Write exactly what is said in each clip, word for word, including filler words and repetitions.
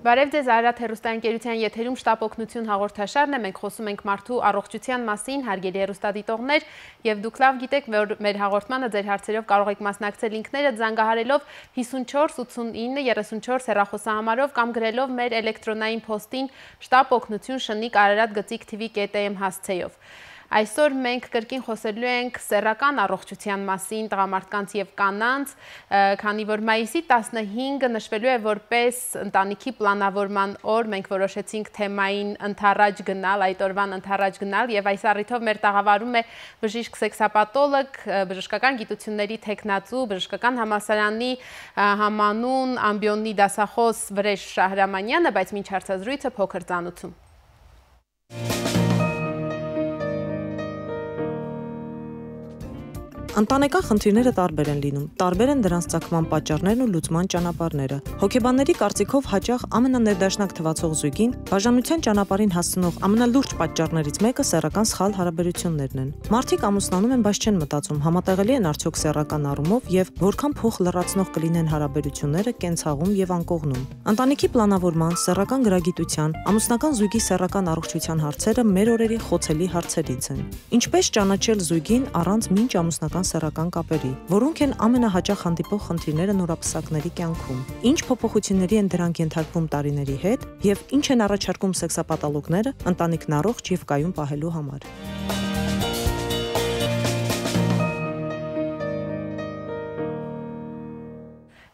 Բարև ձեզ, Արարատ հեռուստաընկերության եթերում շտապ օգնություն հաղորդաշարն է, մենք խոսում ենք մարդու առողջության մասին, հարգելի հեռուստադիտողներ, եւ դուք լավ գիտեք, որ մեր հաղորդմանը ձեր հարցերով կարող եք մասնակցել ինքներդ զանգահարելով հիսունչորս ութսունինը երեսունչորս հեռախոսահամարով կամ գրելով մեր էլեկտրոնային փոստին շտապ օգնություն շնիկ Արարատ գծիկ թիվի կետ էմ հասցեով։ Այսօր մենք կրկին խոսելու ենք սեռական առողջության մասին տղամարդկանց եւ կանանց, քանի որ մայիսի տասնհինգը նշվելու է որպես ընտանիքի պլանավորման օր, մենք որոշեցինք թեմային ընթառաջ գնալ, այդ օրվան ընթառաջ գնալ եւ այս առիթով մեր տաղավարում է բժիշկ սեքսապաթոլոգ, բժշկական գիտությունների թեկնածու, բժշկական համալսարանի համանուն ամբիոնի դասախոս Վրեժ Շահրամանյանը, բայց մինչ հարցազրույցը փոքր ծանոթում։ Ընտանեկան խնդիրները տարբեր են լինում, տարբեր են դրանց ծագման պատճառներն ու լուծման ճանապարհները։ Հոգեբանների կարծիքով հաճախ ամենաներդաշնակ թվացող զույգին բաժանության ճանապարհին հասցնող ամենալուրջ պատճառներից մեկը սեռական սխալ հարաբերություններն են։ Մարդիկ ամուսնանում են, բայց չեն մտածում, համատեղելի են արդյոք սեռական առումով եւ որքան փոխ լրացնող կլինեն հարաբերությունները կենցաղում եւ անկողնում։ Ընտանիքի պլանավորման, սեռական գրագիտության, ամուսնական զույգի սեռական առողջության հարցերը մեր օրերի խոցելի հարցերից են։ Ինչպես ճանաչել զույգին առանց մինչ ամուսնական սեռական կապերի, որոնք են ամենահաճախ հանդիպող խնդիրները նորապսակների կյանքում, ինչ փոփոխությունների են դրանք ենթարկվում տարիների հետ եւ ինչ են առաջարկում սեքսապաթոլոգները ընտանիքն առողջ եւ կայուն պահելու համար։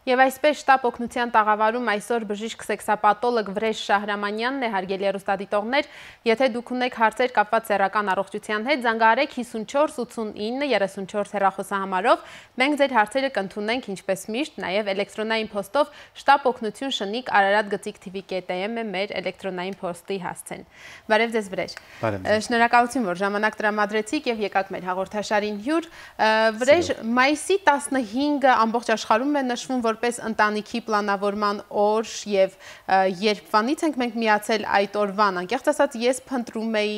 Եվ այսպես շտապ օգնության տաղավարում այսօր բժիշկ սեքսապաթոլոգ Վրեժ Շահրամանյանն է, հարգելի հեռուստադիտողներ, եթե դուք ունեք հարցեր կապված սեռական առողջության հետ, զանգահարեք հիսունչորս ութսունինը երեսունչորս հեռախոսահամարով, մենք ձեր հարցերը կընդունենք ինչպես միշտ, նաև էլեկտրոնային փոստով շտապ օգնություն շնիկ Արարատ գծիկ թիվի կետ էմ է մեր էլեկտրոնային փոստի հասցեն։ Բարև ձեզ Վրեժ։ Շնորհակալություն, որ ժամանակ տրամադրեցիք եւ եկաք մեր հաղորդաշարին հյուր։ Վրեժ, մայիսի տասնհինգը ամբողջ աշխարհում է նշվում որպես ընտանիքի պլանավորման օր եւ երբվանից ենք մենք միացել այդ օրվան, անկեղծ ասած ես փնտրում էի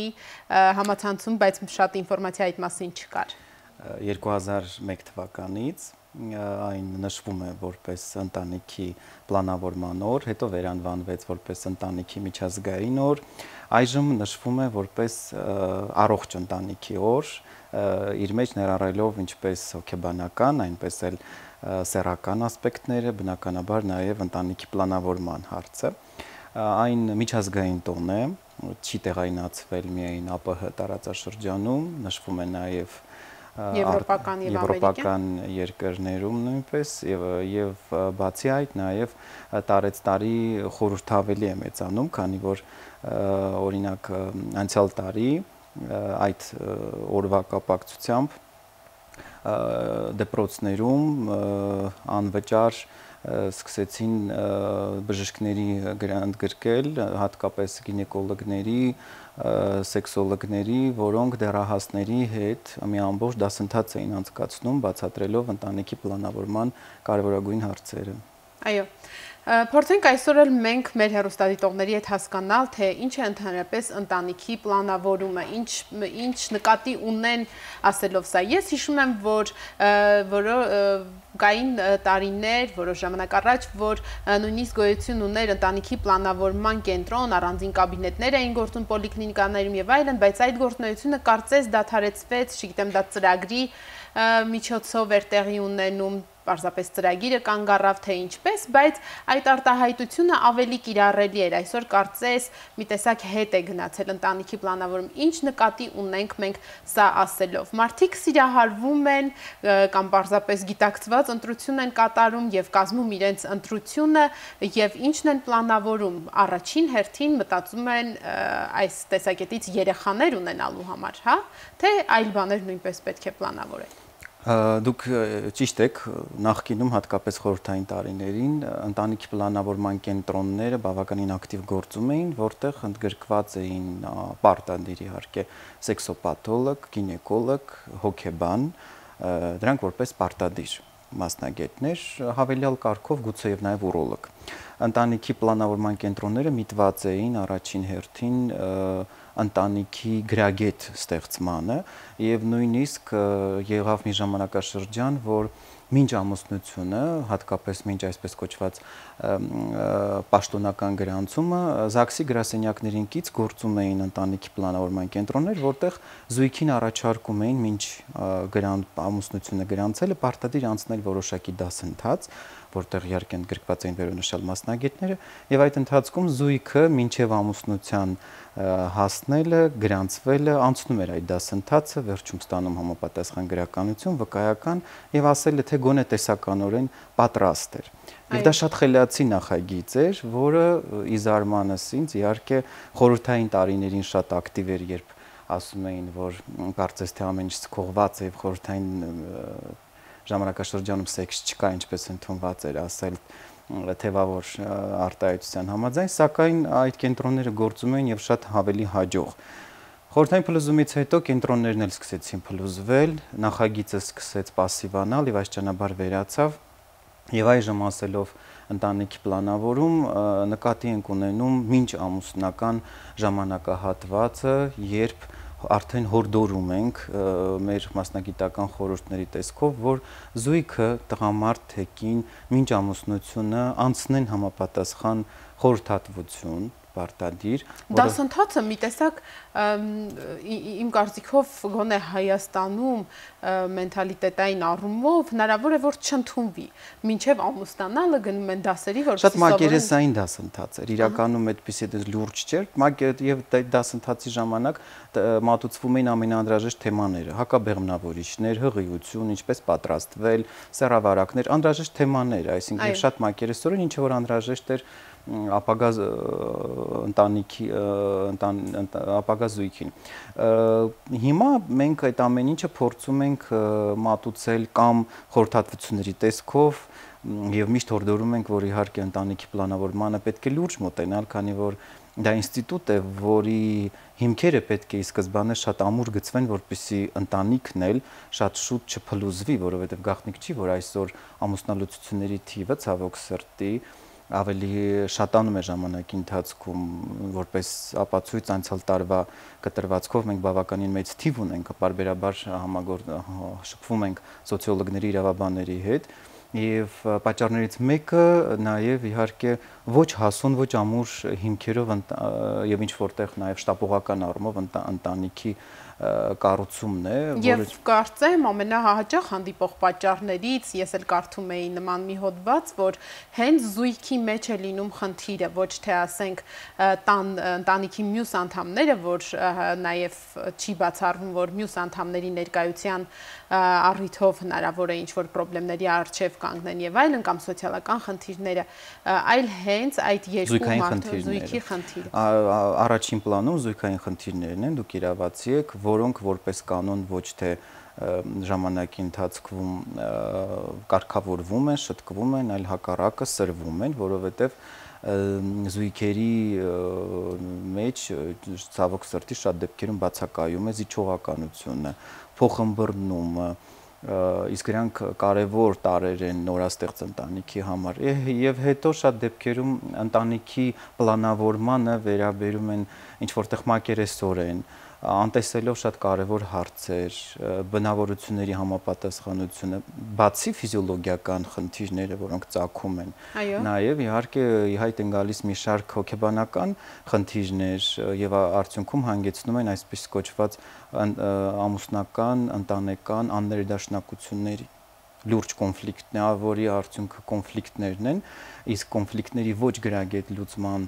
համացանցում, բայց շատ ինֆորմացիա այդ մասին չկար։ երկու հազար մեկ թվականից այն նշվում է որպես ընտանիքի պլանավորման օր, հետո վերանվանվեց որպես ընտանիքի միջազգային օր, այժմ նշվում է որպես առողջ ընտանիքի օր, իր մեջ ներառելով ինչպես հոգեբանական, այնպես էլ սեռական ասպեկտները, բնականաբար նաև ընտանիքի պլանավորման հարցը։ Այն միջազգային տոն է, չի տեղայնացվել միայն ԱՊՀ տարածաշրջանում, նշվում է նաև եվրոպական երկրներում նույնպես եւ բացի այդ նաև տարեց տարի խորհրդավելի է մեծանում, քանի որ օրինակ անցյալ տարի այդ օրվա կապակցությամբ դեպրոցներում անվճար սկսեցին բժիշկների գրանտ գրկել, հատկապես գինեկոլոգների, սեքսոլոգների, որոնք դեռահասների հետ մի ամբողջ դասընթաց էին անցկացնում, բացատրելով ընտանիքի պլանավորման կարևորագույն հարցերը։ Այո, փորձենք այսօր էլ մենք մեր հեռուստադիտողների հետ հասկանալ, թե ինչ է ընդհանրապես ընտանիքի պլանավորումը, ինչ ինչ նկատի ունեն ասելով սա։ Ես հիշում եմ, որ կային տարիներ, որոշ ժամանակ առաջ, որ նույնիսկ գոյություն ուներ ընտանիքի պլանավորման կենտրոն, առանձին կաբինետներ էին գործում պոլիկլինիկաներում եւ այլն, բայց այդ գործունեությունը կարծես դադարեցվեց, չգիտեմ, դա ծրագրի միջոցով էր տեղի ունենում, պարզապես ծրագիրը կանգ առավ թե ինչպես, բայց այդ արտահայտությունը ավելի կիրառելի էր, այսօր կարծես մի տեսակ հետ է գնացել ընտանիքի պլանավորում, ինչ նկատի ունենք մենք սա ասելով։ Մարդիկ սիրահարվում են կամ պարզապես գիտակցված ընտրություն են կատարում եւ կազմում իրենց ընտրությունը եւ ինչն են պլանավորում, առաջին հերթին մտածում են այս տեսակետից երեխաներ ունենալու համար, հա, թե այլ բաներ նույնպես պետք է պլանավորել։ Դուք ճիշտ եք, նախկինում հատկապես խորհրդային տարիներին ընտանիքի պլանավորման կենտրոնները բավականին ակտիվ գործում էին, որտեղ ընդգրկված էին պարտադիր իհարկե սեքսոպաթոլոգ, գինեկոլոգ, հոգեբան, դրանք որպես պարտադիր մասնագետներ, հավելյալ կարգով գուցե եւ նաեւ ուրոլոգ։ ընտանիքի պլանավորման կենտրոնները միտված էին առաջին հերթին ընտանիքի գրագետ ստեղծմանը եւ նույնիսկ եղավ մի ժամանակաշրջան, որ մինչ ամուսնությունը, հատկապես մինչ այսպես կոչված պաշտոնական գրանցումը, ԶԱԳՍ-ի գրասենյակներին կից գործում էին ընտանիքի պլանավորման կենտրոններ, որտեղ զույգին առաջարկում էին մինչ ամուսնությունը գրանցելը պարտադիր անցնել որոշակի դասընթաց, որտեղ իհարկե ընդգրկված էին վերոնշյալ մասնագետները, եւ այդ ընթացքում զույգը մինչեւ ամուսնության հասնելը, գրանցվելը անցնում էր այդ դասընթացը, վերջում ստանում համապատասխան գրականություն, վկայական եւ ասելը թե գոնե տեսականորեն պատրաստ էր։ Եվ դա շատ խելացի նախագիծ էր, որը ի զարմանս ինձ իհարկե խորհրդային տարիներին շատ ակտիվ էր, երբ ասում էին, որ կարծես թե ամեն ինչ սկողված է եւ խորհրդային ժամանակաշրջանում սեքս չկա, ինչպես ընդունված էր ասել թևավոր արտահայտության համաձայն, սակայն այդ կենտրոնները գործում էին եւ շատ ավելի հաջող։ Խորհրդային փլուզումից հետո կենտրոններն էլ սկսեցին փլուզվել, նախագիծը սկսեց պասիվանալ եւ այսճանաբար վերացավ եւ այժմ ասելով ընտանիքի պլանավորում նկատի ենք ունենում մինչ ամուսնական ժամանակահատվածը, երբ արդեն հորդորում ենք մեր մասնագիտական խորհուրդների տեսքով, որ զույգը տղամարդ թե կին մինչ ամուսնությունը անցնեն համապատասխան խորհրդատվություն պարտադիր։ Դասընթացը մի տեսակ իմ կարծիքով գոնե Հայաստանում մենթալիտետային առումով հնարավոր է որ չընդունվի։ Մինչև ամուսնանալը գնում են դասերի, որպեսզի շատ մակերեսային դասընթաց էր։ Իրականում այդպիսի լուրջ չէր, եւ դասընթացի ժամանակ մատուցվում էին ամենաանհրաժեշտ թեմաները՝ հակաբեղմնավորիչներ, հղիություն, ինչպես պատրաստվել, սեռավարակներ, անհրաժեշտ թեմաներ, այսինքն շատ մակերեսորեն, ինչը որ անհրաժեշտ էր ապագա ընտանիքի ապագա զույգին։ Հիմա մենք այդ ամեն ինչը փորձում ենք մատուցել կամ խորհրդատվությունների տեսքով եւ միշտ հորդորում ենք, որ իհարկե ընտանիքի պլանավորմանը պետք է լուրջ մոտենալ, քանի որ դա ինստիտուտ է, որի հիմքերը պետք է ի սկզբանե շատ ամուր գծվեն, որպեսզի ընտանիքն էլ շատ շուտ չփլուզվի, որովհետեւ գաղտնիք չի, որ այսօր ամուսնալուծությունների թիվը ցավոք սրտի ավելի շատանում է ժամանակի ընթացքում, որպես ապացույց անցյալ տարվա կտրվածքով մենք բավականին մեծ թիվ ունենք, պարբերաբար շփվում ենք սոցիոլոգների, իրավաբանների հետ, եւ պատճառներից մեկը նաեւ իհարկե ոչ հասուն, ոչ ամուր հիմքերով եւ ինչ որտեղ նաեւ շտապողական առումով ընտանիքի կառուցումն է, եւ կարծեմ ամենահաճախ հանդիպող պատճառներից ես էլ կարդում էի նման մի հոդված, որ հենց զույգի մեջ է լինում խնդիրը, ոչ թե ասենք տան ընտանիքի մյուս անդամները, որ նաեւ չի բացառվում, որ մյուս անդամների ներկայության առիթով հնարավոր է ինչ-որ խնդիրների առջև կանգնեն եւ այլն կամ սոցիալական խնդիրները, այլ հենց այդ երկու մարդու զույգի խնդիրը։ Առաջին պլանում զույգային խնդիրներն են, դուք իրավացի եք, որոնք որպես կանոն ոչ թե ժամանակի ընթացքում կարգավորվում են, շտկվում են, այլ հակառակը սրվում են, որովհետեւ զույգերի մեջ ցավոք սրտի շատ դեպքերում բացակայում է զիջողականությունը, փոխըմբռնումը, իսկ դրանք կարևոր տարրեր են նորաստեղծ ընտանիքի համար եւ հետո շատ դեպքերում ընտանիքի պլանավորմանը վերաբերում են ինչ որտեղ մակերեսորեն, անտեսելով շատ կարևոր հարցեր, բնավորությունների համապատասխանությունը, բացի ֆիզիոլոգիական խնդիրները, որոնք ծագում են, նաև իհարկե հայտ են գալիս մի շարք հոգեբանական խնդիրներ եւ արդյունքում հանգեցնում են այսպես կոչված ամուսնական, ընտանեկան աններդաշնակությունների լուրջ կոնֆլիկտն է, որի արդյունքը կոնֆլիկտներն են, իսկ կոնֆլիկտների ոչ գրագետ լուծման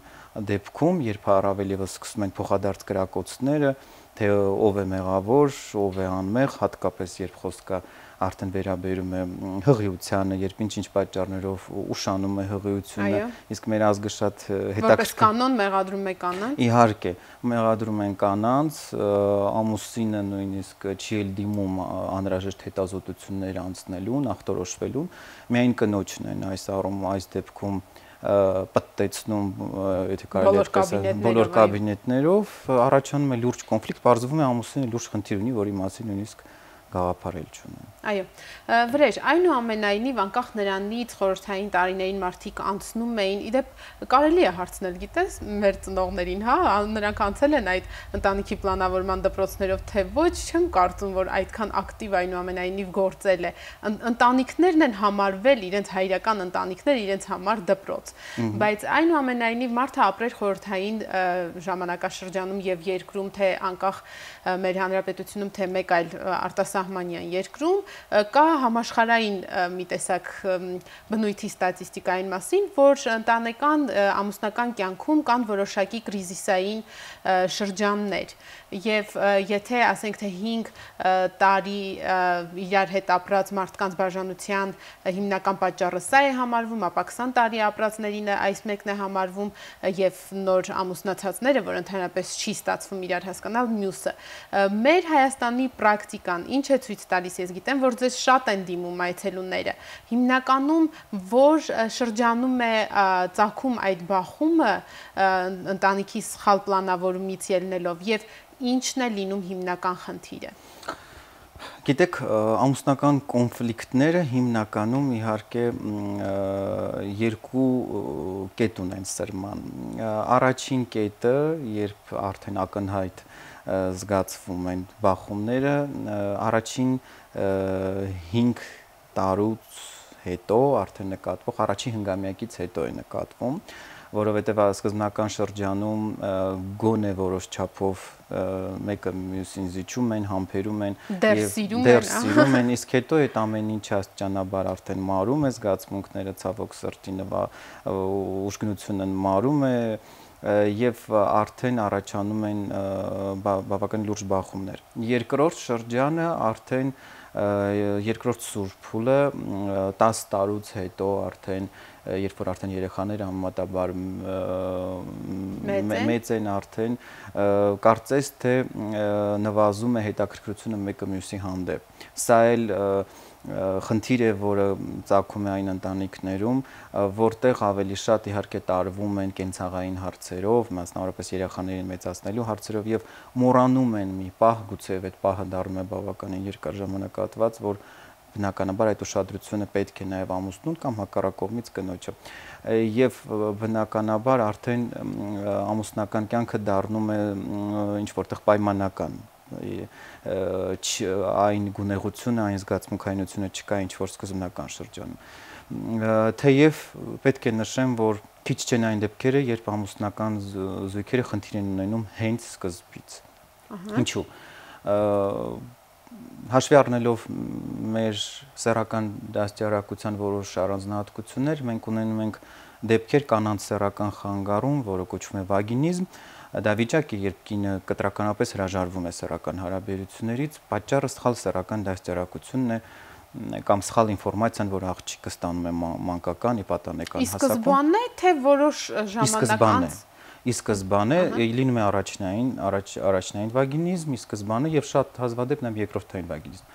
դեպքում, երբ առավել եւս սկսում են փոխադարձ կրակոցները, թե ով է մեղավոր, ով է անմեղ, հատկապես երբ խոսքը արդեն վերաբերում է հղիությանը, երբ ինչ-ինչ պատճառներով ուշանում է հղիությունը, իսկ մեր ազգը շատ հետաքրքիր որպես կանոն մեղադրում է կանանց։ Իհարկե, մեղադրում են կանանց, ամուսինը նույնիսկ չի էլ դիմում անհրաժեշտ հետազոտություններ անցնելուն, ախտորոշվելուն, միայն կնոջն են այս առումով այս դեպքում պատտեցնում, եթե կարելի է ասել, բոլոր կաբինետներով, առաջանում է լուրջ կոնֆլիկտ, բարձվում է ամուսինը լուրջ խնդիր ունի, որի մասին նույնիսկ գաղափար էլ չունեն։ Այո, վրեժ, այնուամենայնիվ անկախ նրանից խորհրդային տարիներին մարդիկ անցնում էին, իդեպ կարելի է հարցնել, գիտես, մեր ծնողներին, հա, նրանք անցել են այդ ընտանիքի պլանավորման դպրոցներով, թե ոչ, չեմ կարծում, որ այդքան ակտիվ այնուամենայնիվ գործել է։ Ընտանիքներն են համարվել, իրենց հայրական ընտանիքներ իրենց համար դպրոց, բայց այնուամենայնիվ մարդը ապրեր խորհրդային ժամանակաշրջանում եւ երկրում, թե անկախ մեր հանրապետությունում, թե մեկ այլ արտասահմանյան երկրում, կա համաշխարհային մի տեսակ բնույթի ստատիստիկային մասին, որ ընտանեկան ամուսնական կյանքում կան որոշակի կրիզիսային շրջաններ եւ եթե ասենք թե հինգ տարի իրար հետ ապրած մարդկանց բաժանության հիմնական պատճառը սա է համարվում, ապա քսան տարի ապրածներին այս մեկն է համարվում եւ նոր ամուսնացածները, որ ընդհանրապես չի ստացվում իրար հասկանալ, մյուսը։ Մեր Հայաստանի պրակտիկան ինչ է ցույց տալիս, ես գիտեմ, որ ձեզ շատ են դիմում այցելուները։ Հիմնականում որ շրջանում է ծագում այդ բախումը ընտանիքի սխալ պլանավորումից ելնելով եւ ինչն է լինում հիմնական խնդիրը։ Գիտեք, ամուսնական կոնֆլիկտները հիմնականում իհարկե երկու կետ ունեն սրման։ Առաջին կետը, երբ արդեն ակնհայտ զգացվում են բախումները, առաջին հինգ տարուց հետո արդեն նկատվող, առաջին հնգամյակից հետո է նկատվում, որովհետև սկզբնական շրջանում գոնե որոշ չափով մեկը մյուսին զիջում են, համբերում են դեռ սիրում են, իսկ հետո այդ ամեն ինչ աստիճանաբար արդեն մարում է, զգացմունքները ցավոք սրտի ուշքնությունը մարում է եւ արդեն առաջանում են բավական լուրջ բախումներ։ Երկրորդ շրջանը արդեն երկրորդ սուրբ փուլը տասը տարուց հետո արդեն երբ որ արդեն երեխաները համեմատաբար մեծ են արդեն, կարծես թե նվազում է հետաքրքրությունը մեկը մյուսի հանդեպ։ Սա էլ խնդիր է, որը ծագում է այն ընտանիքներում, որտեղ ավելի շատ իհարկե տարվում են կենցաղային հարցերով, մասնավորապես երեխաներին մեծացնելու հարցերով եւ մոռանում են մի պահ, գուցեև այդ պահը դառնում է բավականին երկար ժամանակատված, որ բնականաբար այդ ուշադրությունը պետք է նաև ամուսնուն կամ հակառակողմից կնոջը եւ բնականաբար արդեն ամուսնական կյանքը դառնում է ինչ որտեղ պայմանական այն գունեղությունը, այն զգացմունքայինությունը չկա ինչ որ սկզբնական շրջանում թեև պետք է նշեմ, որ քիչ չեն այն դեպքերը, երբ ամուսնական զույգերը խնդիր են ունենում հենց սկզբից ինչու հաշվի առնելով մեր սեռական դաստիարակության որոշ առանձնահատկություններ, մենք ունենում ենք դեպքեր կանանց սեռական խանգարում, որը կոչվում է վագինիզմ, դա վիճակ է, երբ կինը կտրականապես հրաժարվում է սեռական հարաբերություններից, պատճառը սխալ սեռական դաստիարակությունն է կամ սխալ ինֆորմացիան, որ աղջիկը ստանում է մանկական, իպատանեկան հասակում։ Իսկ սկզբանն է, թե որոշ ժամանակ անց Ի սկզբանե լինում է առաջնային, առաջնային վագինիզմ, ի սկզբանե եւ շատ հազվադեպ նաեւ երկրորդային վագինիզմ։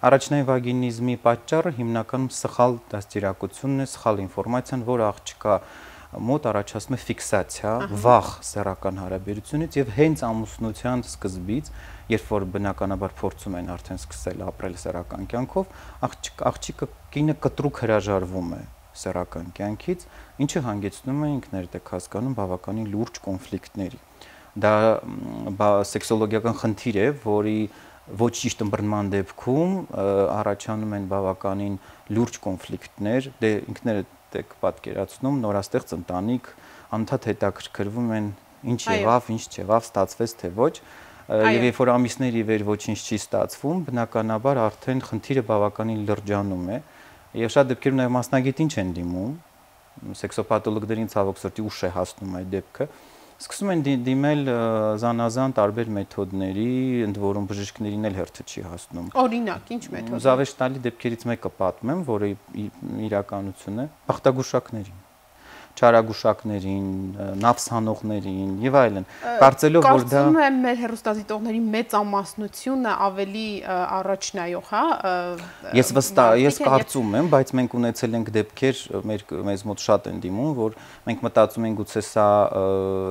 Առաջնային վագինիզմի պատճառը հիմնականում սխալ դաստիարակությունն է, սխալ ինֆորմացիան, որ աղջկա մոտ առաջացնում է ֆիքսացիա, վախ սեռական հարաբերությունից եւ հենց ամուսնության սկզբից, երբ որ բնականաբար փորձում են արդեն սկսել ապրել սեռական կյանքով, աղջիկը կինը կտրուկ հրաժարվում է սեռական կյանքից, ինչը հանգեցնում է ինքներդ եք հասկանում բավականին լուրջ կոնֆլիկտների։ Դա սեքսոլոգիական խնդիր է, որի ոչ ճիշտ ըմբռնման դեպքում առաջանում են բավականին լուրջ կոնֆլիկտներ, դե ինքներդ եք պատկերացնում, նորաստեղծ ընտանիք, անընդհատ հետաքրքրվում են ինչ եղավ, ինչ չեղավ, ստացվեց թե ոչ, եւ երբ որ ամիսներ ի վեր ոչինչ չի ստացվում, բնականաբար արդեն խնդիրը բավականին լրջանում է։ Եվ շատ դեպքերում նաև մասնագետին չեն դիմում, սեքսոպաթոլոգներին ցավոք սրտի ուշ է հասնում այդ դեպքը, սկսում են դիմել զանազան տարբեր մեթոդների, ընդ որում բժիշկներին էլ հերթը չի հասնում։ Օրինակ, ինչ մեթոդ։ Զավեշտալի դեպքերից մեկը պատմեմ, որը իրականություն է, բախտագուշակներին։ չարագուշակներին, նավսանողներին եւ այլն։ Կարծելով որ դա կարծում եմ մեր հեռուստադիտողների մեծամասնությունը ավելի առաջնայող, հա։ Ես վստահ, ես կարծում եմ, բայց մենք ունեցել ենք դեպքեր, մեր մեզ մոտ շատ են դիմում, որ մենք մտածում ենք գուցե սա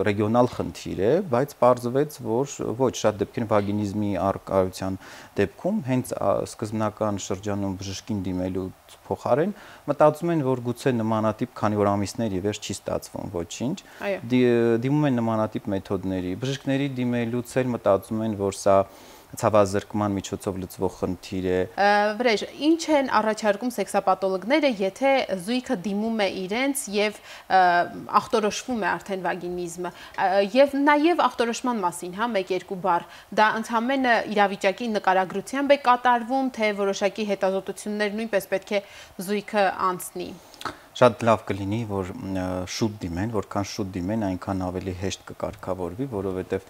ռեգիոնալ խնդիր է, բայց պարզվեց, որ ոչ, շատ դեպքեր վագինիզմի առկայության դեպքում հենց սկզբնական շրջանում բժշկին դիմելու փոխարեն մտածում են, որ գուցե նմանատիպ, քանի որ ամիսներ ի վերջ չի ստացվում ոչինչ, դիմում են նմանատիպ մեթոդների։ Բժիշկների դիմելուց էլ մտածում են, որ սա ցավազրկման միջոցով լուծվող խնդիր է։ Վրեժ, ինչ են առաջարկում սեքսապաթոլոգները, եթե զույգը դիմում է իրենց եւ ախտորոշվում է արդեն վագինիզմը, եւ նաեւ ախտորոշման մասին, հա, մեկ-երկու բառ, դա ընդհանրապես իրավիճակի նկարագրությամբ է կատարվում, թե որոշակի հետազոտություններ նույնպես պետք է զույգը անցնի։ Շատ լավ կլինի, որ շուտ դիմեն, որքան շուտ դիմեն, այնքան ավելի հեշտ կկարգավորվի, որովհետև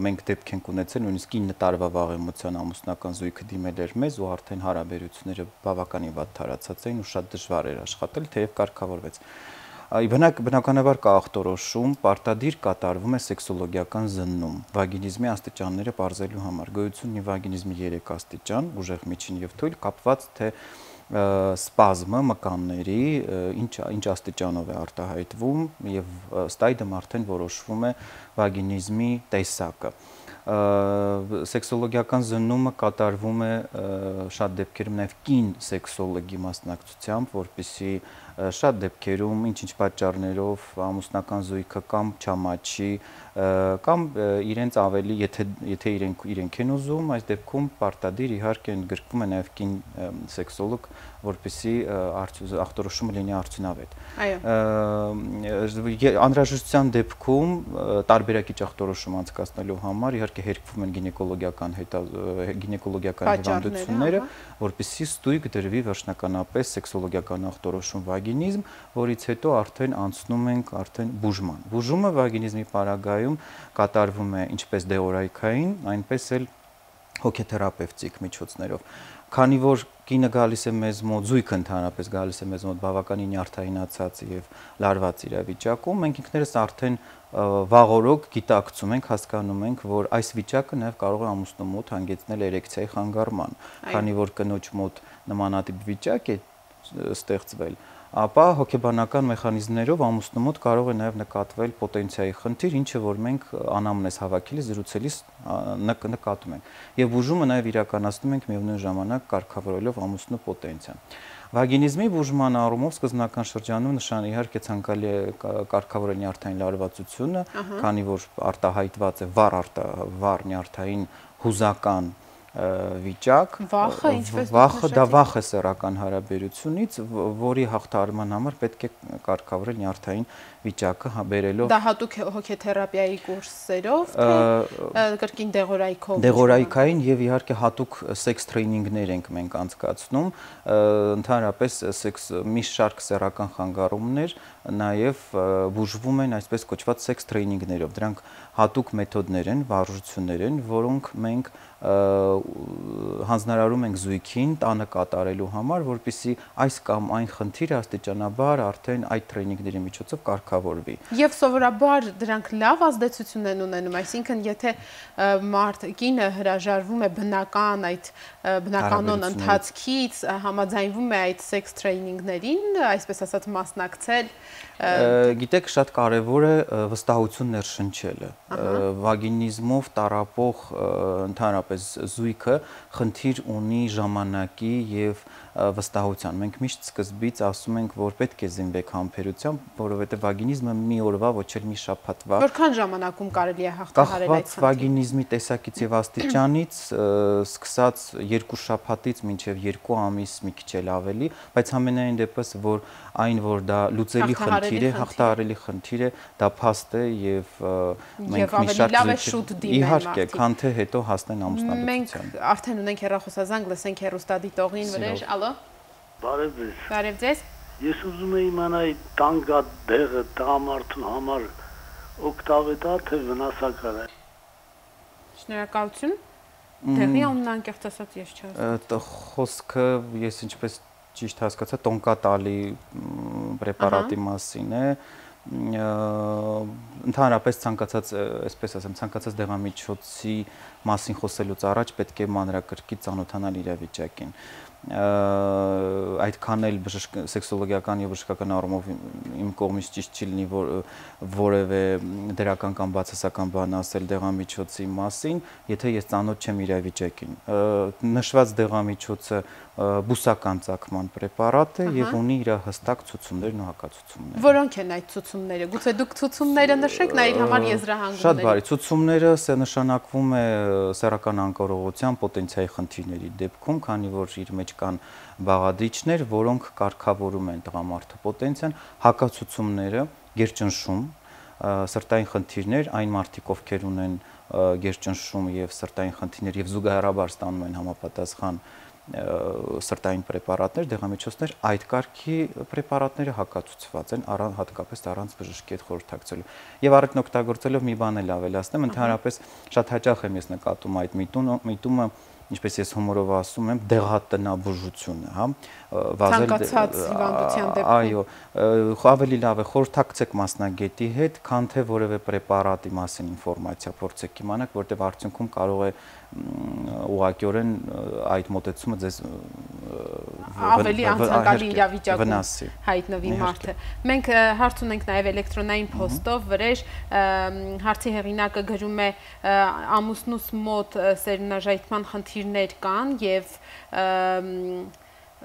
մենք դեպք ենք ունեցել, նույնիսկ ինը տարվա վաղեմության ամուսնական զույգը դիմել էր մեզ ու արդեն հարաբերությունները բավականին վատ տարածած էին ու շատ դժվար էր աշխատել, թեև կարգավորվեց։ Բնականաբար կա ախտորոշում, պարտադիր կատարվում է սեքսոլոգիական զննում, վագինիզմի աստիճանները պարզելու համար։ Գոյություն ունի վագինիզմի երեք աստիճան, ուժեղ, միջին եւ թույլ, կապված թե սպազմը մկանների ինչ ինչ աստիճանով է արտահայտվում եւ ըստ այդմ արդեն որոշվում է վագինիզմի տեսակը։ Սեքսոլոգիական զննումը կատարվում է շատ դեպքերում նաև կին սեքսոլոգի մասնակցությամբ, որպեսզի շատ դեպքերում ինչ-ինչ պատճառներով ամուսնական զույգը կամ չամաչի կամ իրենց ավելի եթե եթե իրենք իրենք են ուզում, այս դեպքում պարտադիր իհարկե ընդգրկվում է նաև կին սեքսոլոգ, որպեսզի ախտորոշումը լինի արդյունավետ։ Այո։ Անհրաժեշտության դեպքում տարբերակիչ ախտորոշում անցկացնելու համար իհարկե հերկվում են գինեկոլոգիական գինեկոլոգիական հիվանդությունները, որպեսզի ստույգ դրվի վերջնականապես սեքսոլոգիական ախտորոշում վագինիզմ, որից հետո արդեն անցնում ենք արդեն բուժման։ Բուժումը վագինիզմի պարագայում կատարվում է ինչպես դեորայքային, այնպես էլ հոգեթերապևտիկ միջոցներով։ Քանի որ կինը գալիս է մեզ մոտ, զույգը ընդհանրապես գալիս է մեզ մոտ բավականին նյարդայնացած եւ լարված իրավիճակում, մենք ինքներս արդեն վաղօրոք գիտակցում ենք, հասկանում ենք, որ այս վիճակը նաեւ կարող է ամուսնու մոտ հանգեցնել էրեկցիայի խանգարման, քանի որ կնոջ մոտ նմանատիպ վիճակ է ստեղծվել, ապա հոգեբանական մեխանիզմներով ամուսնու մոտ կարող է նաև նկատվել պոտենցիայի խնդիր, ինչը որ մենք անամնեզ հավաքելիս զրուցելիս նկատում ենք։ Եվ բուժումը նաև իրականացնում ենք միևնույն ժամանակ կարգավորելով ամուսնու պոտենցիան։ Վագինիզմի բուժման առումով սկզբնական շրջանում նշան իհարկե ցանկալի է կարգավորել նյարդային լարվածությունը, քանի որ արտահայտված է վառ վառ նյարդային հուզական վիճակ, վախը ինչպես վախը դա վախ է սեռական հարաբերությունից, որի հաղթահարման համար պետք է կարգավորել նյարդային վիճակը բերելով դա հատուկ հոգեթերապիայի կուրսերով, թե կրկին դեղորայքով։ Դեղորայքային եւ իհարկե հատուկ սեքս տրեյնինգներ ենք մենք անցկացնում, ընդհանրապես սեքս մի շարք սեռական խանգարումներ նաև բուժվում են այսպես կոչված սեքս տրեյնինգներով։ Դրանք հատուկ մեթոդներ են, վարժություններ են, որոնք մենք հանձնարարում ենք զույգին տանը կատարելու համար, որպեսզի այս կամ այն խնդիրը աստիճանաբար արդեն այդ տրեյնինգների միջոցով կարգավորվի։ Եվ սովորաբար դրանք լավ ազդեցություն են ունենում, այսինքն եթե մարդ կինը հրաժարվում է բնական այդ բնականon ընթացքից, համաձայնվում է այդ սեքս տրեյնինգներին, այսպես ասած մասնակցել։ Գիտեք, շատ կարևոր է վստահություն ներշնչելը։ Վագինիզմով տառապող ընդհանրապես զույգը խնդիր ունի ժամանակի եւ վստահության։ Մենք միշտ սկզբից ասում ենք, որ պետք է զինվեք համբերությամբ, որովհետեւ վագինիզմը մի օրվա, ոչ էլ մի շաբաթվա։ Որքան ժամանակում կարելի է հաղթահարել այդ խնդիրը։ Վագինիզմի տեսակից եւ աստիճանից սկսած երկու շաբաթից մինչեւ երկու ամիս մի քիչ էլ ավելի, բայց ամենայն դեպս որ այն որ դա լուծելի խնդիր է, հաղթահարելի խնդիր է, դա փաստ է եւ մենք մի շարք զույգ իհարկե, քան թե հետո հասնեն ամուսնալուծության։ Մենք արդեն ունենք հեռախոսազանգ, լսենք հեռուստադիտողին, Վրեժ, ալո։ Բարև ձեզ։ Բարև ձեզ։ Ես ուզում եմ իմանալ տանգա դեղը տղամարդու համար օգտավետ է թե վնասակար է։ Շնորհակալություն։ Դեղի անունը անկեղծ ասած ես չհասկացա։ Խոսքը ես ինչպես ճիշտ հասկացա, տոնկա տալի պրեպարատի մասին է, ընդհանրապես ցանկացած, այսպես ասեմ, ցանկացած դեղամիջոցի մասին խոսելուց առաջ պետք է մանրակրկիտ ծանոթանալ իրավիճակին։ Այդքան էլ սեքսոլոգիական եւ բժշկական առումով իմ կողմից ճիշտ չի լինի որևէ դրական կամ բացասական բան ասել դեղամիջոցի մասին, եթե ես ծանոթ չեմ իրավիճակին։ Նշված դեղամիջոցը բուսական ծագման պրեպարատ է եւ ունի իր հստակ ցուցումներն ու հակացուցումները։ Որոնք են այդ ցուցումները։ Գուցե դուք ցուցումները նշեք, նա իր համար եզրահանգումներ։ Շատ բարի, ցուցումները նշանակվում է սեռական անկարողության պոտենցիայի խնդիրների դեպքում, քանի որ իր մեջ կան բաղադրիչներ, որոնք կարգավորում են տղամարդու պոտենցիան, հակացուցումները, գերճնշում, սրտային խնդիրներ, այն մարդիկ, ովքեր ունեն գերճնշում եւ սրտային խնդիրներ եւ զուգահեռաբար ստանում են համապատասխան սրտային պրեպարատներ, դեղամիջոցներ, այդ կարգի պրեպարատները հակացուցված են հատկապես առանց բժշկի հետ խորհրդակցելու։ Եվ առիթն օգտագործելով մի բան էլ ավելացնեմ, ընդհանրապես շատ հաճախ եմ ես նկատում այդ միտումը, ինչպես ես հումորով ասում եմ, դեղատնաբուժությունը, հա, ցանկացած հիվանդության դեպքում։ Այո, ավելի լավ է խորհրդակցեք մասնագետի հետ, քան թե որևէ պրեպարատի մասին ինֆորմացիա փորձեք իմանաք, որտեղ արդյունքում կարող է ուղղակիորեն այդ մոտեցումը ձեզ ավելի անցանկալի իրավիճակում հայտնվի մարդը։ Մենք հարց ունենք նաև էլեկտրոնային փոստով վրեժ, հարցի հեղինակը գրում է ամուսնուս մոտ սերմնաժայթման խնդիրներ կան եւ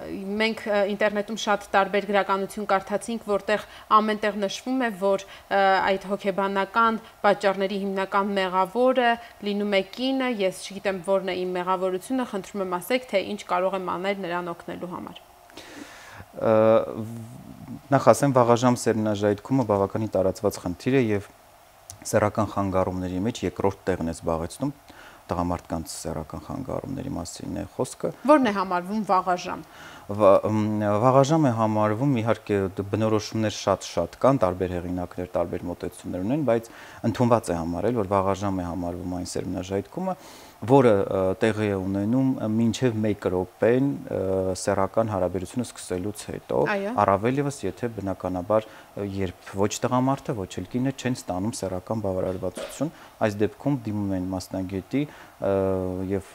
մենք ինտերնետում շատ տարբեր գրականություն կարդացինք, որտեղ ամենտեղ նշվում է, որ այդ հոգեբանական պատճառների հիմնական մեղավորը լինում է կինը, ես չգիտեմ որն է իմ մեղավորությունը, խնդրում եմ ասեք, թե ինչ կարող եմ անել նրան օգնելու համար։ Նախ ասեմ, վաղաժամ սերմնաժայթքումը բավականին տարածված խնդիր է եւ սեռական խանգարումների մեջ երկրորդ տեղն է զբաղեցնում։ Տղամարդկանց սեռական խանգարումների մասին է խոսքը։ Որն է համարվում վաղաժամ։ Վաղաժամ է համարվում, իհարկե բնորոշումներ շատ-շատ կան, տարբեր հեղինակներ, տարբեր մոտեցումներ ունեն, բայց ընդունված է համարել, որ վաղաժամ է համարվում այն սերմնաժայթքումը, որը տեղի է ունենում մինչև մեկ րոպեն սեռական հարաբերությունը սկսելուց հետո, առավել ևս եթե բնականաբար երբ ոչ տղամարդը, ոչ էլ կինը չեն ստանում սեռական բավարարվածություն, այս դեպքում դիմում են մասնագետի եւ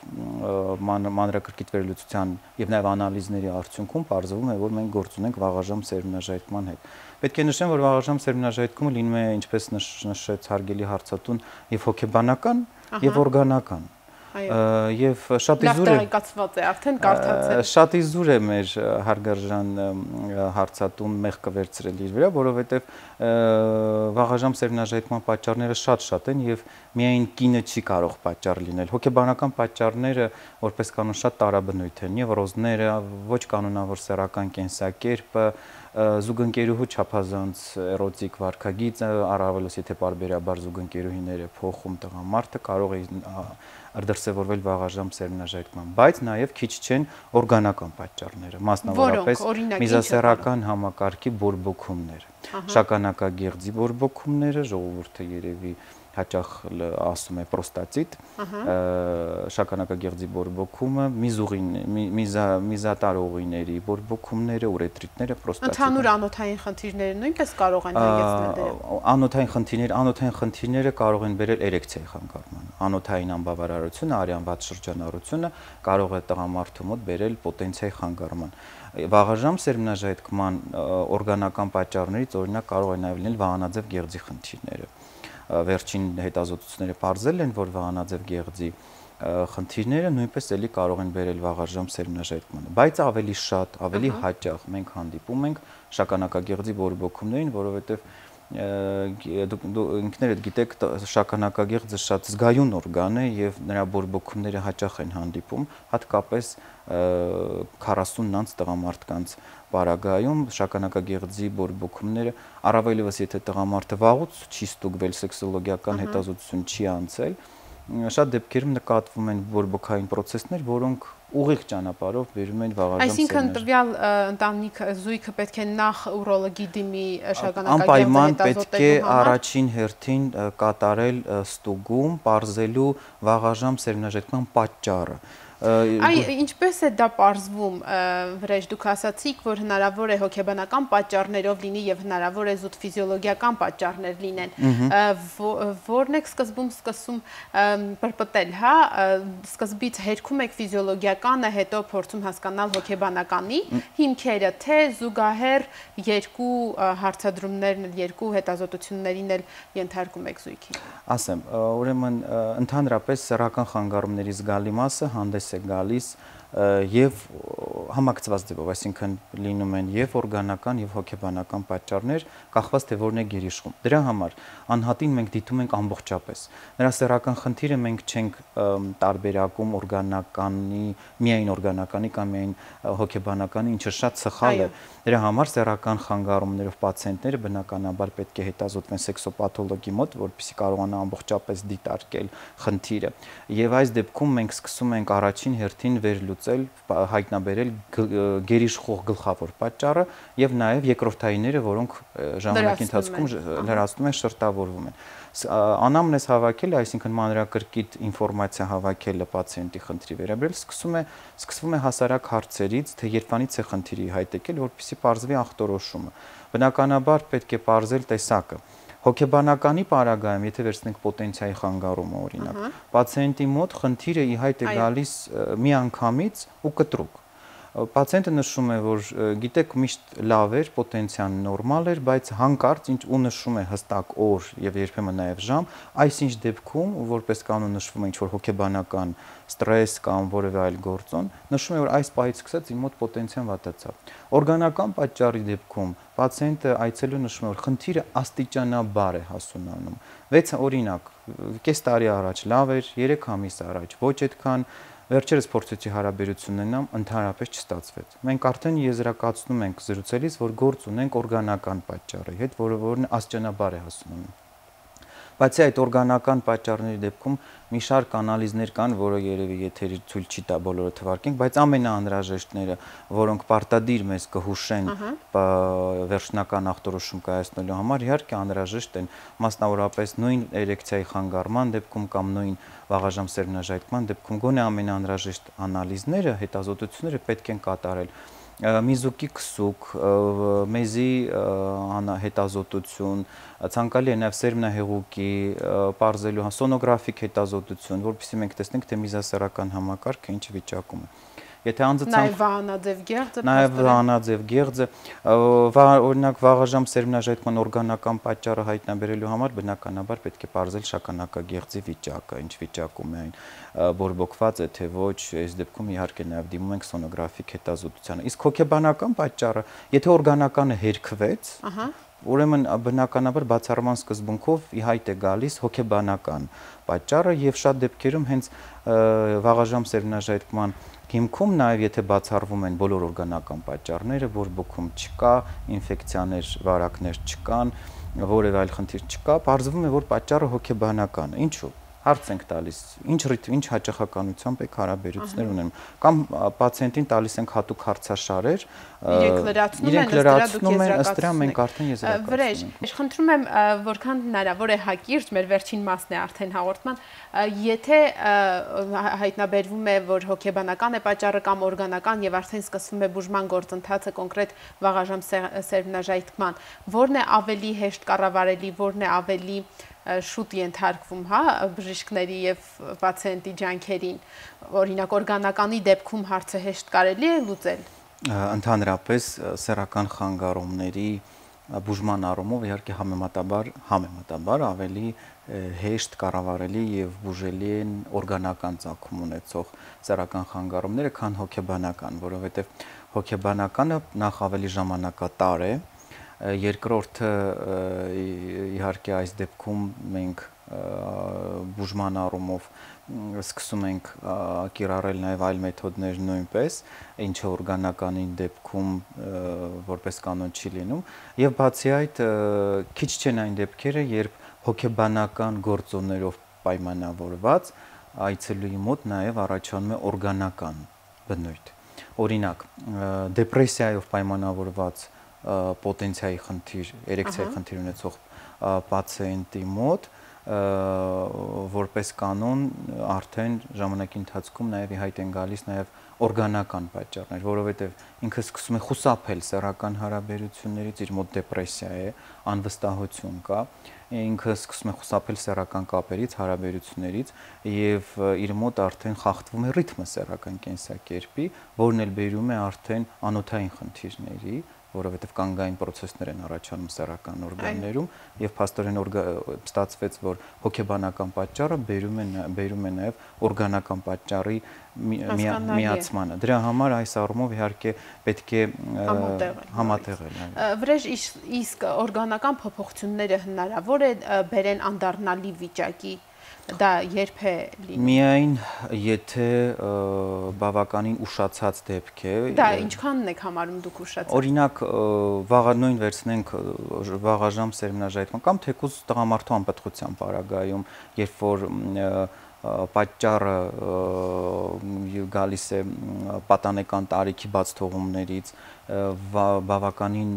մանրակրկիտ վերլուծության եւ նաեւ անալիզների արդյունքում պարզվում է, որ մենք գործ ունենք վաղաժամ սերմնաժայթման հետ։ Պետք է նշեմ, որ վաղաժամ սերմնաժայթքումը լինում է, ինչպես նշեց հարգելի հարցատուն, եւ հոգեբանական եւ օրգանական։ Եվ շատ իզուր է արդեն կարդացել։ Շատ իզուր է մեր հարգարժան հարցատուն մեղքը վերցրել իր վրա, որովհետև վաղաժամ սերմնաժայթման պատճառները շատ-շատ են եւ միայն կինը չի կարող պատճառ լինել։ Հոգեբանական պատճառները որպես կանոն շատ տարաբնույթ են, նևրոզները, ոչ կանոնավոր սեռական կենսակերպը, զուգընկերուհու չափազանց էրոտիկ վարքագիծը, առավելως եթե պարբերաբար զուգընկերուհիները փոխում տղամարդը կարող է դրսևորվել վաղաժամ սերմնաժայթման, բայց նաև քիչ չեն օրգանական պատճառները, մասնավորապես միզասեռական համակարգի բորբոքումները, շագանակագեղձի բորբոքումները, ժողովուրդը երևի հաճախ ասում է պրոստատիտ, շագանակագեղձի բորբոքումը, միզատար ուղիների բորբոքումները, ուրետրիտները, պրոստատիտը։ Ընդհանուր անոթային խնդիրները նույնպես կարող են հանգեցնել դրան։ Անոթային խնդիրներ, անոթային խնդիրները կարող են բերել էրեկցիայի խանգարման։ Անոթային անբավարարությունը, արյան վատ շրջանառությունը կարող է տղամարդու մոտ բերել պոտենցիայի խանգարման։ Վաղաժամ սերմնաժայթքման օրգանական պատճառներից օրինակ կարող է նաև լինել վահանաձև գեղձի խնդիրները։ Վերջին հետազոտությունները պարզել են, որ վահանաձև գեղձի խնդիրները նույնպես էլի կարող են բերել վաղաժամ սերմնաժայթմանը, բայց ավելի շատ, ավելի հաճախ մենք հանդիպում ենք շագանակագեղձի բորբոքումներին, որովհետև դուք ինքներդ գիտեք, շագանակագեղձը շատ զգայուն օրգան է եւ նրա բորբոքումները հաճախ են հանդիպում, հատկապես քառասունն անց տղամարդկանց պարագայում շագանակագեղձի բորբոքումները, առավել ևս եթե տղամարդը վաղուց չի ստուգվել, սեքսոլոգիական հետազոտություն չի անցել, շատ դեպքերում նկատվում են բորբոքային պրոցեսներ, որոնք ուղիղ ճանապարհով բերում են վաղաժամ սերմնաժայթման։ Այսինքն տվյալ ընտանիք զույգը պետք է նախ ուրոլոգի դիմի շագանակագեղձը անպայման պետք է առաջին հերթին կատարել ստուգում, պարզելու վաղաժամ սերմնաժայթման պատճառը։ Այ ինչպես է դա պարզվում, վրեժ դուք ասացիք, որ հնարավոր է հոգեբանական պատճառներով լինի եւ հնարավոր է զուտ ֆիզիոլոգիական պատճառներ լինեն, որն եք սկզբում սկսում պրպտել, հա, սկզբից հերքում եք ֆիզիոլոգիականը, հետո փորձում հասկանալ հոգեբանականի հիմքերը, թե զուգահեռ երկու հարցադրումներն, երկու հետազոտություններին էլ ենթարկում եք զույգին։ Ասեմ, ուրեմն ընդհանրապես սեռական խանգարումների զգալի մասը հանդես է գալիս եւ համակցված ձևով, այսինքն լինում են եւ օրգանական եւ հոգեբանական պատճառներ, կախված թե որն է գերիշխում։ Դրա համար անհատին մենք դիտում ենք ամբողջապես։ Նրա սեռական խնդիրը մենք չենք տարբերակում օրգանականի, միայն օրգանականի կամ միայն հոգեբանականի, ինչը շատ սխալ է։ Դրա համար սեռական խանգարումներով պացիենտները բնականաբար պետք է հետազոտվեն սեքսոպաթոլոգի մոտ, որպեսզի կարողանա ամբողջապես դիտարկել խնդիրը։ Եվ այս դեպքում մենք սկսում ենք առաջին հերթին վերլուծել, հայտնաբերել գերիշխող գլխավոր պատճառը եւ նաեւ երկրորդայինները, որոնք ժամանակի ընթացքում լրացնում են, շերտավորվում են։ Անամնեզ հավաքելը, այսինքն մանրակրկիտ ինֆորմացիա հավաքելը պացիենտի խնդրի վերաբերյալ սկսում է սկսվում է հասարակ հարցերից, թե երբանից է խնդիրի հայտ եկել, որպեսզի պարզվի ախտորոշումը։ Բնականաբար պետք է պարզել տեսակը։ Հոգեբանականի պարագայում, եթե վերցնենք պոտենցիայի խանգարումը, օրինակ, պացիենտի մոտ խնդիրը ի հայտ է գալիս միանգամից ու կտրուկ։ Պացիենտը նշում է, որ գիտեք, միշտ լավ էր, պոտենցիան նորմալ էր, բայց հանկարծ ինչ ու նշում է հստակ օր եւ երբեմն նաեւ ժամ, այսինչ դեպքում, որպես կանոն նշվում է ինչ-որ հոգեբանական ստրես կամ որևէ այլ գործոն, նշում է, որ այս պահից սկսած իմ մոտ պոտենցիան վատացավ։ Օրգանական պատճառի դեպքում պացիենտը այցելու նշում է, որ խնդիրը աստիճանաբար է հասունանում։ վեց օրինակ, կես տարի առաջ լավ էր, երեք ամիս առաջ ոչ այդքան, վերջերս փորձեցի հարաբերություն ունենամ, ընդհանրապես չստացվեց։ Մենք արդեն եզրակացնում ենք զրուցելիս, որ գործ ունենք օրգանական պատճառի հետ, որը որն աստիճանաբար է հասունանում։ Բացի այդ օրգանական պատճառների դեպքում մի շարք անալիզներ կան, որը երևի եթերի ցույց չի տա բոլորը թվարկենք, բայց ամենաանհրաժեշտները, որոնք պարտադիր մեզ կհուշեն վերջնական ախտորոշում կայացնելու համար, իհարկե անհրաժեշտ են, մասնավորապես նույն էրեկցիայի խանգարման դեպքում կամ նույն վաղաժամ սերմնաժայթման դեպքում գոնե ամենաանհրաժեշտ անալիզները, հետազոտությունները պետք են կատարել։ Միզուկի քսուկ, մեզի հետազոտություն, ցանկալի է նաև սերմնահեղուկի, պարզելու սոնոգրաֆիկ հետազոտություն, որովհետեւ մենք տեսնենք, թե միզասեռական համակարգը ինչ վիճակում է։ Եթե անձը Նաև վահանաձև գեղձը, Նաև վահանաձև գեղձը, օրինակ վաղաժամ սերմնաժայթման օրգանական պատճառը հայտնաբերելու համար բնականաբար պետք է պարզել շագանակագեղձի վիճակը, ինչ վիճակում է այն, բորբոքված է թե ոչ, այս դեպքում իհարկե նաև դիմում ենք սոնոգրաֆիկ հետազոտությանը։ Իսկ հոգեբանական պատճառը, եթե օրգանականը հերքվեց, ուրեմն բնականաբար բացառման սկզբունքով ի հայտ է գալիս հոգեբանական պատճառը եւ շատ դեպքերում հենց վաղաժամ սերմնաժայթման հիմքում նաև եթե բացառվում են բոլոր օրգանական պատճառները, բորբոքում չկա, ինֆեկցիաներ, վարակներ չկան, որևէ այլ խնդիր չկա, պարզվում է, որ պատճառը հոգեբանական է։ Ինչու՞։ Հարց ենք տալիս, ինչ ռիթմ, ինչ հաճախականությամբ եք հարաբերություններ ունենում, կամ պացիենտին տալիս ենք հատուկ հարցաշարեր, իրենք լրացնում են, ըստ դրա մենք արդեն եզրակացնում ենք։ Վրեժ, խնդրում եմ, որքան հնարավոր է հակիրճ, մեր վերջին մասն է արդեն հաղորդման, եթե հայտնաբերվում է, որ հոգեբանական է պատճառը կամ օրգանական եւ արդեն սկսվում է բուժման գործընթացը կոնկրետ վաղաժամ սերմնաժայթման, որն է ավելի հեշտ կառավարելի, որն է ավելի շուտ ենթարկվում, հա, բժիշկների եւ պացիենտի ջանքերին, օրինակ օրգանականի դեպքում հարցը հեշտ կարելի է լուծել։ Ընդհանրապես սեռական խանգարումների բուժման առումով իհարկե համեմատաբար համեմատաբար ավելի հեշտ կառավարելի եւ բուժելի են օրգանական ծագում ունեցող սեռական խանգարումները, քան հոգեբանական, որովհետեւ հոգեբանականը նախ ավելի ժամանակատար է, երկրորդը իհարկե այս դեպքում մենք բուժման առումով սկսում ենք կիրառել նաև այլ մեթոդներ նույնպես, ինչը օրգանականին դեպքում որպես կանոն չի լինում, եւ բացի այդ քիչ չեն այն դեպքերը, երբ հոգեբանական գործոններով պայմանավորված այցելուի մոտ նաև առաջանում է օրգանական բնույթ։ Օրինակ, դեպրեսիայով պայմանավորված պոտենցիայի խնդիր, էրեկցիայի խնդիր ունեցող պացիենտի մոտ որպես կանոն արդեն ժամանակի ընթացքում նաև ի հայտ են գալիս նաև օրգանական պատճառներ, որովհետև ինքը սկսում է խուսափել սեռական հարաբերություններից, իր մոտ դեպրեսիա է, անվստահություն կա, ինքը սկսում է խուսափել սեռական կապերից, հարաբերություններից եւ իր մոտ արդեն խախտվում է ռիթմը սեռական կենսակերպի, որն էլ բերում է արդեն անօթային խնդիրների, որովհետև կանգային process-ներ են առաջանում սեռական օրգաններում եւ փաստորեն ստացվեց, որ հոգեբանական պատճառը բերում է բերում է նաեւ օրգանական պատճառի միացմանը։ Դրա համար այս առումով իհարկե պետք է համատեղել։ Վրեժ իսկ օրգանական փոփոխությունները հնարավոր է բերեն անդառնալի վիճակի։ Դա երբ է լինում։ Միայն եթե բավականին ուշացած դեպք է։ Դա ինչքանն եք համարում դուք ուշացած։ Օրինակ վաղանույն վերցնենք վաղաժամ սերմնաժայթման կամ թեկուզ տղամարդու անպտղության պարագայում, երբ որ պատճառը գալիս է պատանեկան տարիքի բաց թողումներից, բավականին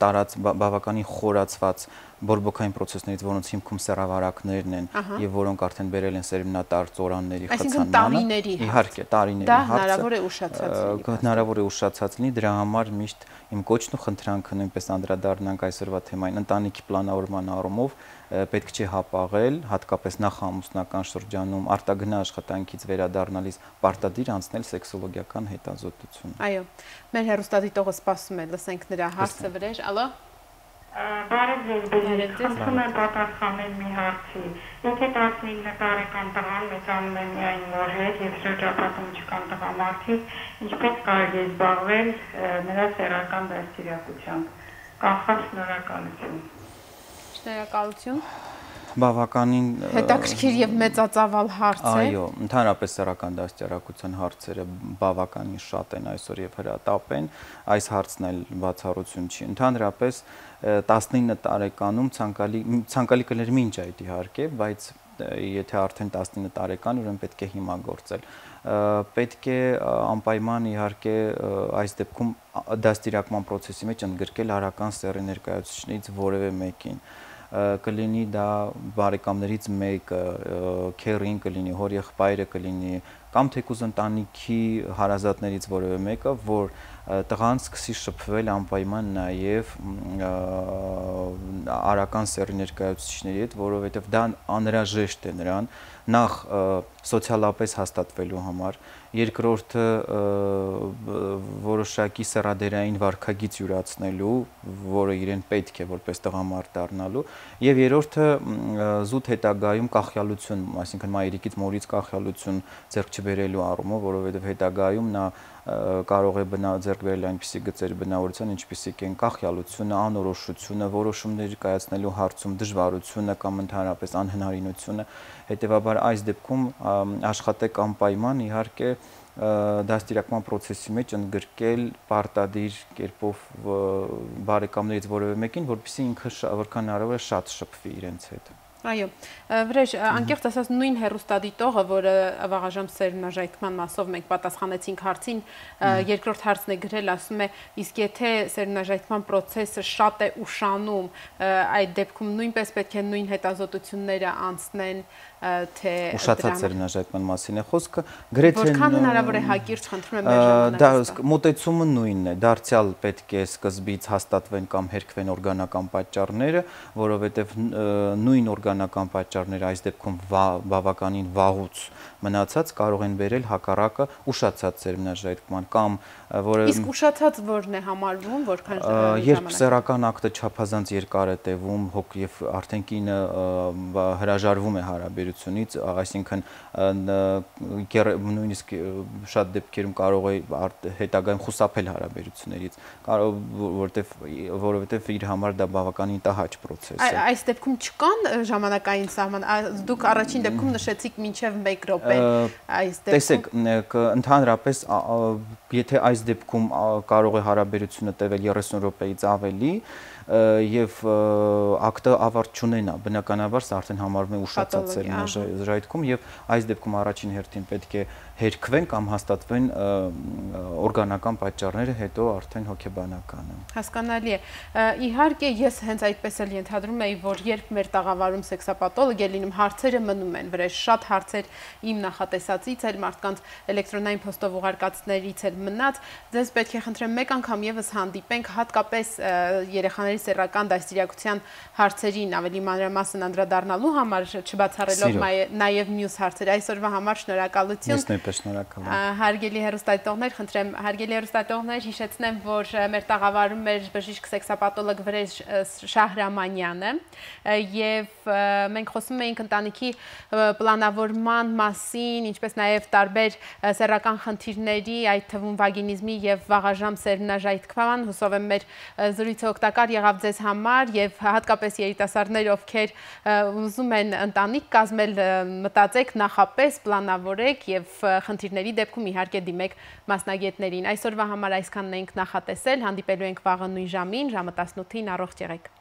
տարած բավականին խորացված բորբոքային process-ներից, որոնց հիմքում սեռավարակներն են եւ որոնք արդեն բերել են սերմնատար ծորանների խցանմանը, իհարկե տարիների հարցը, դա հնարավոր է ուշացած լինի։ Հնարավոր է ուշացած լինի, դրա համար միշտ իմ կոչն ու խնդրանքը նույնպես անդրադառնանք այսօրվա թեմային, ընտանիքի պլանավորման առումով պետք չէ հապաղել, հատկապես նախամուսնական շրջանում արտագնա աշխատանքից վերադառնալիս պարտադիր անցնել սեքսոլոգիական հետազոտություն։ Այո, մեր հեռուստադիտողը սպասում է, լսենք նրա հարցը վրեժ, ալո։ Բարև ձեզ, խնդրում եմ պատասխանել մի հարցի։ Եթե տասնինը տարեկան տղան մեծանում է միայն մոր հետ եւ շրջապատում չկան տղամարդիկ, ինչպես կարելի է զբաղվել նրա սեռական դաստիարակությամբ։ Կանխավ շնորհակալություն։ Շնորհակալություն։ Բավականին հետաքրքիր եւ մեծածավալ հարց է։ Այո, ընդհանրապես սեռական դաստիարակության հարցերը բավականին շատ են այսօր եւ հրատապ են, այս հարցն էլ բացառություն չի։ Ընդհանրապես տասնինը տարեկանում ցանկալի ցանկալի կներ մինչ այդ իհարկե, բայց եթե արդեն տասնինը տարեկան, ուրեմն պետք է հիմա գործել։ Պետք է անպայման իհարկե այս դեպքում դաստիարակման process-ի մեջ ընդգրկել արական սեռի ներկայացուցիչներից որևէ մեկին։ Կլինի դա բարեկամներից մեկը, քերին կլինի, հորեղբայրը կլինի, կամ թեկուզ ընտանիքի հարազատներից որևէ մեկը, որ տղան սկսի շփվել անպայման նաև արական սեռի ներկայացուցիչների հետ, որովհետև դա անհրաժեշտ է նրան նախ սոցիալապես հաստատվելու համար, երկրորդը որոշակի սեռադերային վարքագիծ յուրացնելու, որը իրեն պետք է որպես տղամարդ դառնալու, եւ երրորդը զուտ հետագայում կախյալություն, այսինքն մայրիկից մորից կախյալություն ձեռք չբերելու առումով, որովհետև հետագայում նա կարող է ձեռք բերել այնպիսի գծեր բնավորության, ինչպիսիք են կախյալությունը, անորոշությունը, որոշումներ կայացնելու հարցում դժվարությունը կամ ընդհանրապես անհնարինությունը, հետեւաբար այս դեպքում աշխատեք անպայման իհարկե դաստիարակման process-ի մեջ ընդգրկել պարտադիր կերպով բարեկամներից որևէ մեկին, որպեսզի ինքը որքան հնարավոր է շատ շփվի իրենց հետ։ Այո, վրեժ, անկեղծ ասած նույն հեռուստադիտողը, որը վաղաժամ սերմնաժայթման մասով մենք պատասխանեցինք հարցին, երկրորդ հարցն է գրել, ասում է, իսկ եթե սերմնաժայթման process-ը շատ է ուշանում, այդ դեպքում նույնպես պետք է նույն հետազոտությունները անցնեն, թե ուշացած սերմնաժայթման մասին է խոսքը, գրեթե որքան հնարավոր է հակիրճ խնդրում եմ մեր ժամանակը։ Մոտեցումը նույնն է, դարձյալ պետք է սկզբից հաստատվեն կամ հերքվեն օրգանական պատճառները, որովհետև նույն օրգանական պատճառները այս դեպքում բավականին վաղուց մնացած կարող են բերել հակառակը ուշացած սերմնաժայթման կամ որը Իսկ ուշացած որն է համարվում, որքան ժամանակ։ Երբ սեռական ակտը չափազանց երկար է տևում, հոգ եւ արդեն կինը հրաժարվում է հարաբերությունից, այսինքն նույնիսկ շատ դեպքերում կարող է հետագայում խուսափել հարաբերություններից, կարող որովհետեւ որովհետեւ իր համար դա բավականին տհաճ process է։ Այս դեպքում չկան ժամանակային սահման, դուք առաջին դեպքում նշեցիք մինչև մեկ րոպե, այս դեպքում Տեսեք, ընդհանրապես եթե այս դեպքում կարող է հարաբերությունը տևել երեսուն րոպեից ավելի եւ ակտը ավարտ չունենա, բնականաբար սա արդեն համարվում է ուշացած սերմնաժայթքում եւ այս դեպքում առաջին հերթին պետք է հերքվեն կամ հաստատվեն օրգանական պատճառները, հետո արդեն հոգեբանականը։ Հասկանալի է։ Իհարկե ես հենց այդպես էլ ենթադրում էի, որ երբ մեր տաղավարում սեքսապաթոլոգ է լինում, հարցերը մնում են վրեժ, շատ հարցեր իմ նախատեսածից էլ, մարդկանց էլեկտրոնային փոստով ուղարկածներից էլ մնաց, ձեզ պետք է խնդրեմ մեկ անգամ եւս հանդիպենք, հատկապես երեխաների սեռական դաստիարակության հարցերին ավելի մանրամասն անդրադառնալու համար, չբացառելով նաեւ մյուս հարցեր։ Այսօրվա համար շնորհակալություն։ Շնորհակալ եմ։ Հարգելի հեռուստադիտողներ, խնդրեմ, հարգելի հեռուստադիտողներ, հիշեցնեմ, որ մեր տաղավարում էր բժիշկ սեքսապաթոլոգ Վրեժ Շահրամանյանը, եւ մենք խոսում էինք ընտանիքի պլանավորման մասին, ինչպես նաեւ տարբեր սեռական խնդիրների, այդ թվում վագինիզմի եւ վաղաժամ սերմնաժայթքման, հուսով եմ մեր զրույցը օգտակար եղավ ձեզ համար եւ հատկապես երիտասարդներ, ովքեր ուզում են ընտանիք կազմել, մտածեք նախապես, պլանավորեք եւ խնդիրների դեպքում իհարկե դիմեք մասնագետներին։ Այսօրվա համար այսքանն ենք նախատեսել, հանդիպելու ենք վաղը նույն ժամին, ժամը տասնութին, առողջ եղեք։